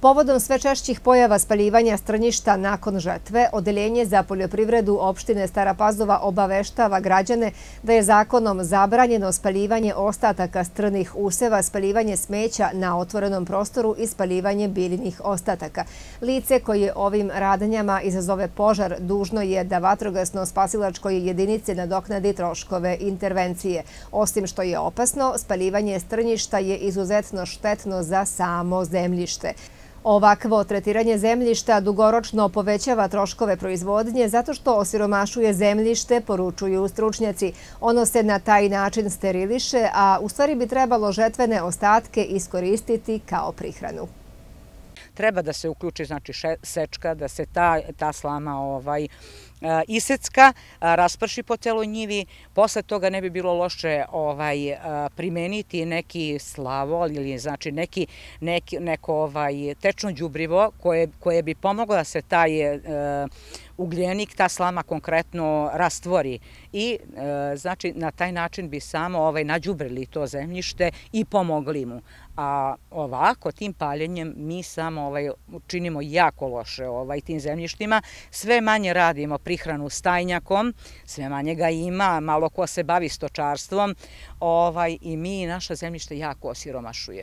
Povodom sve češćih pojava spaljivanja strnjišta nakon žetve, Odeljenje za poljoprivredu opštine Stara Pazova obaveštava građane da je zakonom zabranjeno spaljivanje ostataka strnih useva, spaljivanje smeća na otvorenom prostoru i spaljivanje biljnih ostataka. Lice koje ovim radnjama izazove požar dužno je da vatrogasno-spasilačkoj jedinici nadoknadi troškove intervencije. Osim što je opasno, spaljivanje strnjišta je izuzetno štetno za samo zemljište. Ovakvo tretiranje zemljišta dugoročno povećava troškove proizvodnje zato što osiromašuje zemljište, poručuju stručnjaci. Ono se na taj način steriliše, a u stvari bi trebalo žetvene ostatke iskoristiti kao prihranu. Treba da se uključi sečka, da se ta slama isecka, rasprši po celoj njivi. Posle toga ne bi bilo loše primeniti neki slavol ili neko tečno đubrivo koje bi pomoglo da se taj ugljenik, ta slama konkretno rastvori i na taj način bi samo nađubrili to zemljište i pomogli mu. A ovako, tim paljenjem mi samo činimo jako loše tim zemljištima. Sve manje radimo prihranu stajnjakom, sve manje ga ima, malo ko se bavi stočarstvom i mi naša zemljište jako osiromašuje.